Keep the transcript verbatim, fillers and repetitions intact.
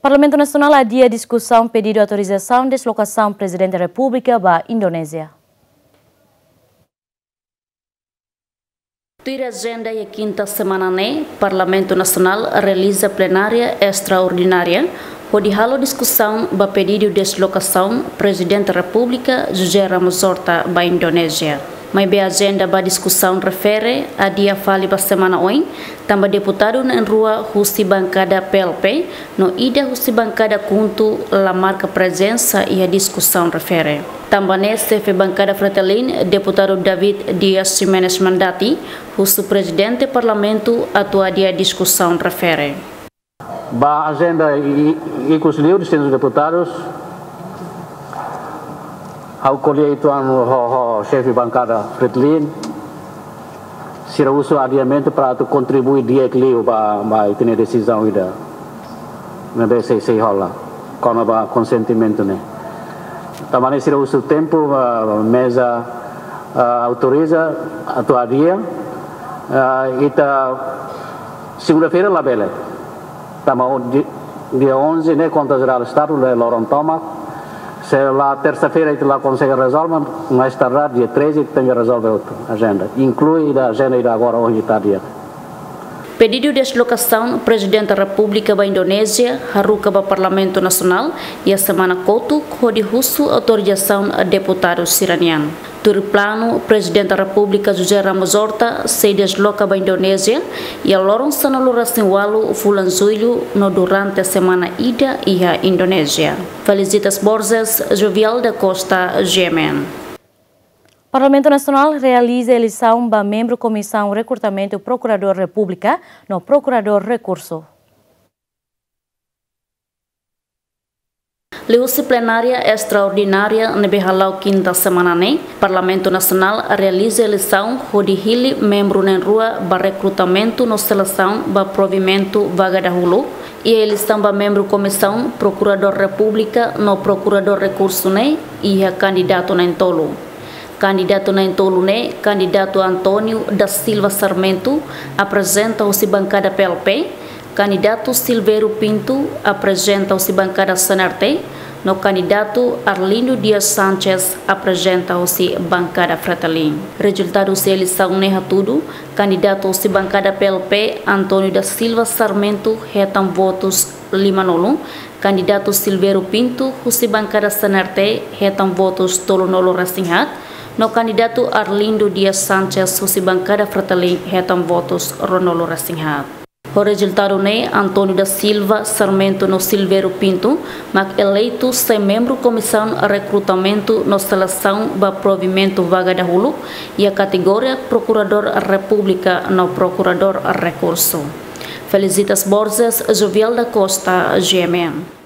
Parlamentu Nasionál adia diskusaun pedidu autorizasaun deslokasaun Prezidente Repúblika ba Indonézia. Tuir ajenda iha kinta semana ne'e, Parlamentu Nasionál realiza plenária estraordinária hodi halo diskusaun ba pedidu deslokasaun Prezidente Repúblika José Ramos Horta ba Indonézia. Maibé ajenda ba diskusaun refere adia fali ba semana oin, tanba deputadu na'in-rua husi bankada P L P no ida husi bankada KHUNTO la marka prezensa iha diskusaun refere. Tanba ne'e xefe bankada Fretilin, deputadu David Dias Ximenes Mandati, husu Prezidente Parlamentu atu adia diskusaun refere. Ba ajenda i-, i-, ikus liu distintus deputadus, ha'u ko'alia uitoan ho, ho xefe bankada Fretilin, sira husu adiamentu para atu kontribui di'ak liu ba, ba ita-nia desizaun ida ne'ebé sei, sei hola kona-ba konsentimentu ne'e. Tanba ne'e sira husu tempu, ah, meza, ah, autoriza atu adia, ah, ita segunda-feira labele. Tanba o di-, dia onze ne'e Konta Jerál Estadu lori loron tomak. Se la tersa-feira ita la konsege rezolve, mais tardar dia treze ita tenke rezolve hotu ajenda. Inklui ida ajenda ida agora ohin ita adia. Pedidu deslokasaun Prezidente Repúblika ba Indonézia haruka ba Parlamentu Nasionál iha semana kotuk hodi husu autorizasaun deputadu sira-nian. Tuir planu, Prezidente Repúblika José Ramos Horta sei desloka ba Indonézia iha loron sanulu-resin-ualu fulan Jullu no durante semana ida iha Indonézia. Felicitas Borges, Jovial da Costa, G M N. Parlamentu Nasionál realiza eleisaun ba membru Komisaun Rekrutamentu Prokuradór Repúblika no Prokuradór Rekursu. Liuhusi plenária estraordinária ne'ebé hala'o kinta semana ne'e, Parlamentu Nasionál realiza eleisaun hodi hili membru na'in-rua ba rekrutamentu no selesaun ba provimentu vaga dahuluk. Iha eleisaun ba membru Komisaun Prokuradór Repúblika no Prokuradór Rekursu ne'e iha kandidatu na'in-tolu. Kandidatu na'in-tolu ne'e, kandidatu António da Silva Sarmento, aprezenta husi bankada P L P, kandidatu Silvério Pinto, aprezenta husi bankada C N R T, no kandidatu Arlindo Dias Sanches, aprezenta husi bankada Fretilin. Rezultadu husi eleisaun ne'e hatudu, kandidatu husi bankada P L P, António da Silva Sarmento, hetan votus limanulu, kandidatu Silvério Pinto husi bankada C N R T hetan votus tolunulu-resin-haat, no kandidatu Arlindo Dias Sanches husi bankada Fretilin hetan votus ruanulu-resin-haat. Ho rezultadu ne'e, António da Silva Sarmento no Silvério Pinto mak eleitu sai membru Komisaun Rekrutamentu no Selesaun ba provimentu vaga dahuluk iha kategoria Prokuradór Repúblika no Prokuradór Rekursu. Felicitas Borges, Jovial da Costa, G M N.